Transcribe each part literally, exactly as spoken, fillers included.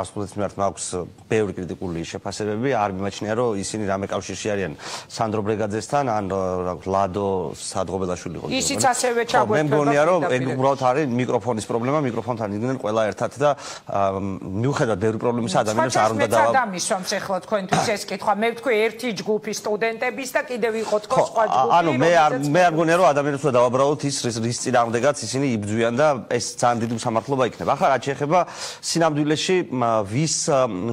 ასხულეთის მიმართ მაქვს ბევრი კრიტიკული შეფასებები, არ მიმაჩნია რომ ისინი რამე კავშირში არიან სანდრო ბრეგაძესთან ან ლადო სადღობელაშვილი იყო. ისიც ასევე ჩაგვეთქვება. მე მგონია რომ ეგ უბრალოდ არის მიკროფონის პრობლემა, მიკროფონთან იდგნენ ყველა ერთად და მიუხედავად ბევრი პრობლემისა ადამიანებს არ უნდა დავა. დამისვამს ახლა თქვენთვის ეს კითხვა. მე ვთქვი ერთი ჯგუფი სტუდენტების და კიდევ იყო თქო სხვა ჯგუფი. ანუ მე არ მე არ მგონია რომ ადამიანებს უნდა დავაბრალოთ ის რის წინააღმდეგაც ისინი იბრძვიან და ეს ძალიან დიდი უსამართლობა იქნება. ახლა რაც შეეხება სინამდვილეში ვის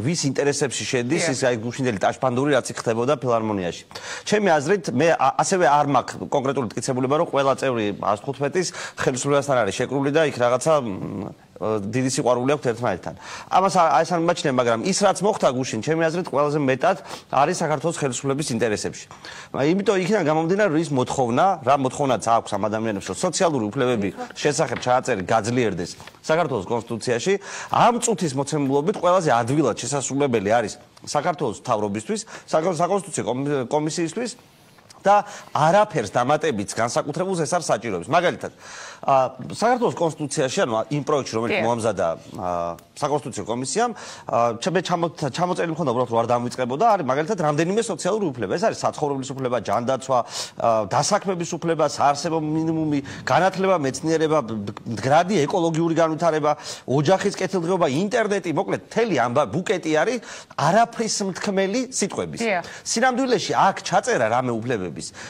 ვის ინტერესებში შედის ის აი გუშინდელი ტაშფანდური რაც ხდებოდა ფილარმონიაში. ჩემი აზრით მე ასევე არ მაქვს კონკრეტული მტკიცებულება რომ ყველა წევრი ას თხუთმეტის ხელისუფლებასთან არის შეკრული და იქ რაღაცა დიდი სიყვარული აქვს ერთმანეთთან. ამას ეს არ მიმაჩნია, მაგრამ ის რაც მოხდა გუშინ, ჩემი აზრით ყველაზე მეტად არის საქართველოს ხელისუფლების ინტერესებში. იმიტომ იქიდან გამომდინარე რომ ის მოთხოვნა, რა მოთხოვნაც აქვს ამ ადამიანებს, რომ სოციალური უფლებები შესახებ ჩააწერი გაძლიერდეს საქართველოს კონსტიტუციაში, ამ წუთის მოცემულობით ყველაზე ადვილად შესაძლებელი არის საქართველოს მთავრობისთვის, საკონსტიტუციო კომისიისთვის და არაფერს დამატებით განსაკუთრებულს ეს არ საჭიროებს. მაგალითად, საქართველოს კონსტიტუციაში, ანუ იმ პროექტში, რომელიც მოამზადა საკონსტიტუციო კომისიამ, მე ჩამოწერილი მქონდა უბრალოდ რომ არ დამვიწყებოდა, არის მაგალითად რამდენიმე სოციალური უფლება. ეს არის საცხოვრებლის უფლება, ჯანდაცვა, დასაქმების უფლება, საარსებო მინიმუმი, განათლება, მეცნიერება, მდგრადი ეკოლოგიური განვითარება, ოჯახის კეთილდღეობა, ინტერნეტი, მოკლედ, მთელი ამბა ბუკეტი არის არაფრის მთქმელი სიტყვების. სინამდვილეში აქ ჩაწერა რამე უფლებების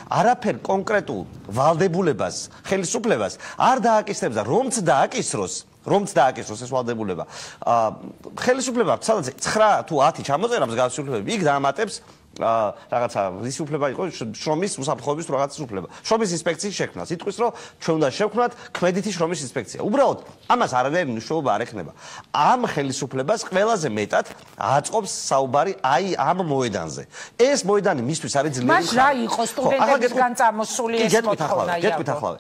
არაფერ კონკრეტულ ვალდებულებას, ხელისუფლებას არ დააკისრებს და რომც დააკისროს, რომც დააკისროს ეს ვალდებულება. ხელისუფლება სადაც ცხრა თუ ათი ჩამოწერა მსგავსი უფლებები, იქ დაამატებს რაღაცა ისი უფლება იყო შრომის უსაფრთხოების თუ რაღაცის უფლება. შრომის ინსპექციის შექმნა. სიტყვის რომ ჩვენ უნდა შევქმნათ ქმედითი შრომის ინსპექცია. უბრალოდ ამას არანაირი მნიშვნელობა არ ექნება. ამ ხელისუფლებას ყველაზე მეტად აწყობს საუბარი აი ამ მოედანზე. ეს მოედანი მისთვის არის ძლიერი. მას რა იყო სტუდენტებისგან წამოსული ეს მოთხოვნა? გეტყვით ახლა.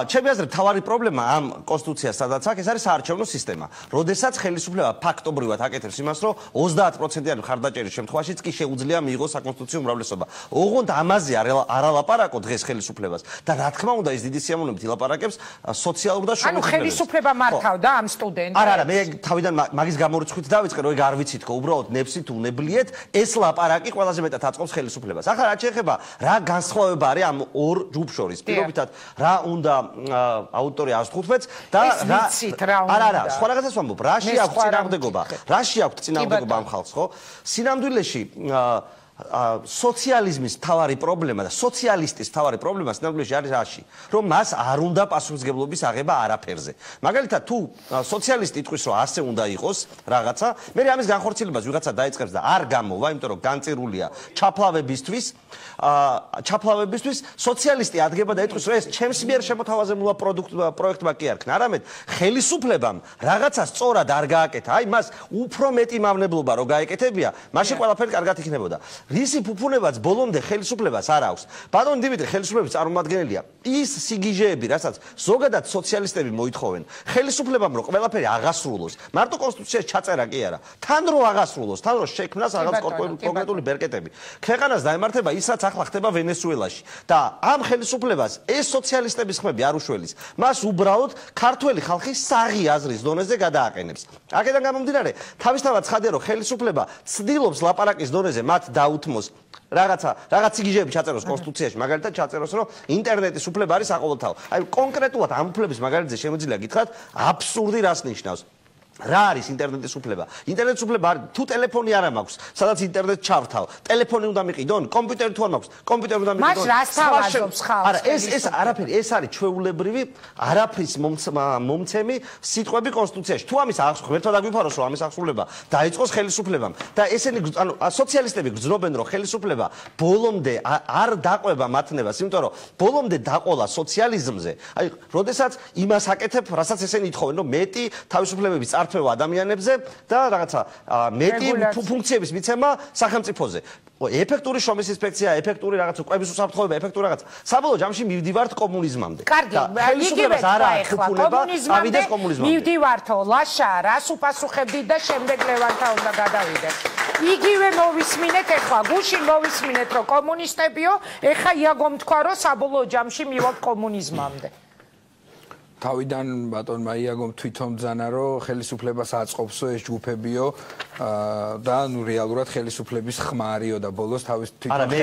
ჩემი აზრით თავარი პრობლემა ამ კონსტიტუციას სადაც აქვს, ეს არის საარჩევნო სისტემა. როდესაც ხელისუფლება ფაქტობრივად აკეთებს იმას, რომ ოცდაათ პროცენტიანი მხარდაჭერის შემთხვევაშიც კი შეუძლია მიიღოს კონსტიტუციური უმრავლესობა. ოღონდ ამაზე არ ალაპარაკო დღეს ხელისუფლებას და რა თქმა უნდა ის დიდი სიამოვნებით ილაპარაკებს სოციალურ და შრომის. ანუ ხელისუფლება მართავდა ამ სტუდენტებს. არა, არა, მე თავიდან მაგის გამორიცხვით დავიწყე, რომ ეგ არ ვიცით, ხო, უბრალოდ ნებსით უნებლიეთ, ეს ლაპარაკი ყველაზე მეტად აწყობს ხელისუფლებას. ახლა რაც შეეხება რა განსხვავება არის ამ ორ ჯგუფ შორის, პირობითად რა უნდა აუტორი ას თხუთმეტს და რა არა, არა, სხვა რაღაცას ვამბობ, რაში აქვს წინააღმდეგობა, რაში აქვს წინააღმდეგობა ამ ხალხს, ხო? სინამდვილეში სოციალიზმის თავარი პრობლემა და სოციალისტის თავარი პრობლემა სინამდვილეში არის რაში, რომ მას არ უნდა პასუხისმგებლობის აღება არაფერზე. მაგალითად, თუ სოციალისტი იტყვის, რომ ასე უნდა იყოს რაღაცა, მე ამის განხორციელებას ვიღაცა დაიწყებს და არ გამოვა, იმიტომ რომ განწირულია ჩაფლავებისთვის, ჩაფლავებისთვის სოციალისტი ადგება და იტყვის, რომ ეს ჩემს მიერ შემოთავაზებულა პროექტმა კი არ ქნა, არამედ ხელისუფლებამ რაღაცა სწორად არ გააკეთა, აი მას უფრო მეტი მავნებლობა რო გაეკეთებია, მაშინ ყველაფერი კარგად იქნებოდა. რისი ფუფუნებაც ბოლომდე ხელისუფლებას არ აქვს. ბატონ დიმიტრი ხელისუფლების წარმომადგენელია. ის სიგიჟეები, რასაც ზოგადად სოციალისტები მოითხოვენ, ხელისუფლებამ რო ყველაფერი აღასრულოს, მარტო კონსტიტუციაში ჩაწერა კი არა, თან რო აღასრულოს, თან რო შექმნას რაღაც კონკრეტული ბერკეტები. ქვეყანას დაემართება ის, რაც ახლა ხდება ვენესუელაში და ამ ხელისუფლებას ეს სოციალისტების ხმები არ უშველის. მას უბრალოდ ქართველი ხალხი საღი აზრის დონეზე გადააყენებს. აქედან გამომდინარე, თავისთავად ცხადია, რომ ხელისუფლება ცდილობს ლაპარაკის დონეზე მათ დაუთმოს რაღაცა რაღაც სიგიჟეები ჩაწეროს კონსტიტუციაში, მაგალითად ჩაწეროს, რომ ინტერნეტის უფლება არის საყოველთაო. აი კონკრეტულად ამ უფლების მაგალითზე შემიძლია გითხრათ, აბსურდი რას ნიშნავს. რა არის ინტერნეტის უფლება? ინტერნეტის უფლება არის თუ ტელეფონი არ მაქვს, სადაც ინტერნეტს ჩავრთავ, ტელეფონი უნდა მიყიდონ, კომპიუტერი თუ არ მაქვს, კომპიუტერი უნდა მიყიდონ. მას რას თავაზობს ხალხს? არა, ეს ეს არაფერი, ეს არის ჩვეულებრივი არაფრის მომცემი სიტყვები კონსტიტუციაში. თუ ამის ღმერთად აგვიფაროს, რომ ამის აღსრულება დაიწყოს ხელისუფლებამ და ესენი ანუ სოციალისტები გრძნობენ, რომ ხელისუფლება ბოლომდე არ დაყვება მათნებას, იმიტომ რომ ბოლომდე დაყოლა სოციალიზმზე. აი, როდესაც იმას აკეთებ, რასაც ესენი ითხოვენ, რომ მეტი თავისუფლებების წარფევა ადამიანებზე და რაღაცა მეტი ფუნქციების მიცემა სახელმწიფოზე. ეფექტური შრომის ინსპექცია, ეფექტური რაღაცა კვების უსაფრთხოება, ეფექტური რაღაცა. საბოლოო ჯამში მივდივართ კომუნიზმამდე. კარგი, იგივე არა კომუნიზმამდე. მივდივართო, ლაშა, რას უპასუხებდით და შემდეგ ლევანთა უნდა გადავიდეთ. იგივე მოვისმინეთ ეხლა, გუშინ მოვისმინეთ, რომ კომუნისტებიო, ეხა იაგომ თქვა, რომ საბოლოო ჯამში მივალთ კომუნიზმამდე. თავიდან ბატონმა იაგომ თვითონ ბრძანა რომ ხელისუფლებას აწყობსო ეს ჯგუფებიო და ნუ რეალურად ხელისუფლების ხმარიო და ბოლოს თავის თვითონ